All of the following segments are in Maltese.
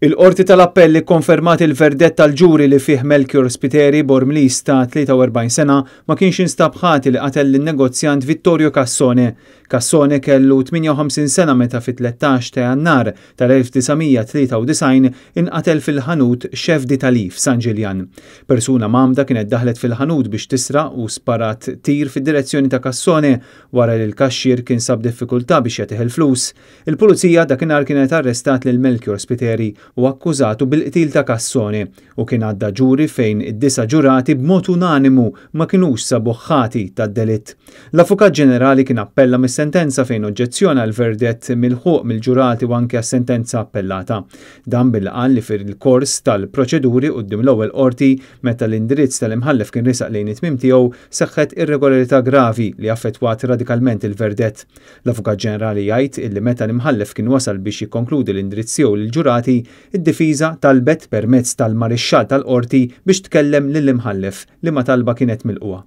Il-Qorti tal-Appell ikkonfermat il-verdett tal-ġuri li fih Melchior Spiteri, Bormliż ta' 43 sena, ma kienx instab ħati li qatel lin-negozjant Vittorio Cassone. Cassone kellu 58 sena meta fit-13 ta' Jannar tal-1993 inqatel fil-ħanut Chef d'Italie f'San Ġiljan. Persuna mgħammda kienet daħlet fil-ħanut biex tisraq u sparat tir fid-direzzjoni ta' Cassone wara li l-kaxxier kien sab diffikultà biex jagħtih il-flus. Il-Pulizija dakinhar kienet arrestat lil Melchior Spiteri u akkużatu bil-qtil ta' Cassone u kien għadda ġuri fejn id-disa' ġurati b'mod unanimu ma kinux sabuh ħati tad-delitt. L-Avukat Ġenerali kien appella mis-sentenza fejn oġġezzjona għall-verdett milħuq mill-ġurati u anke għas-sentenza appellata. Dan billi qal li fil-kors tal-proċeduri quddiem l-ewwel Qorti meta l-indirizz tal-Imħallef kien riesaq lejn it-tmiem tiegħu seħħet irregolarità gravi li affettwat radikalment il-verdett. L-Avukat Ġenerali jgħid illi meta l-Imħallef kien wasal biex jikkonkludi l-indirizz tiegħu lill-ġurati, id-difiża talbet permezz tal-Marixxall tal-Qorti biex tkellem lill-Imħallef, liema talba kienet milqugħa.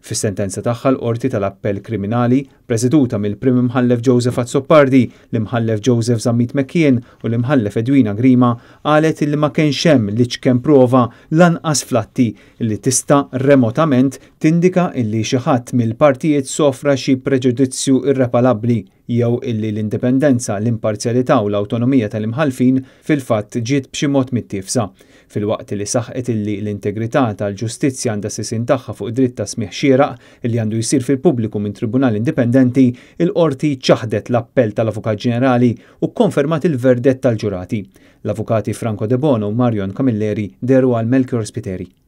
Fis-sentenza tagħha l-Qorti tal-Appell Kriminali, preseduta mill-Prim Imħallef Joseph Azzopardi, l-Imħallef Joseph Zammit McKeon u l-Imħallef Edwina Grima, qalet illi ma kienx hemm l-iċken prova lanqas fl-atti li tista' remotament tindika illi xi ħadd mill-partijiet sofra xi preġudizzju irreparabbli jew illi l-indipendenza, l-imparzjalità u l-awtonomija tal-imħallfin fil-fatt ġiet b'xi mod mittiefsa. Filwaqt li saħqet illi l-integrità tal-ġustizzja għandha s-sisien tagħha fuq id-dritt ta' smigħ xieraq illi għandu jsir fil-pubbliku minn tribunal indipendenti, il-Qorti ċaħdet l-appell tal-Avukat Ġenerali u kkonfermat il-verdett tal-ġurati. L-Avukati Franco Debono u Marion Camilleri dehru għal Melchior Spiteri.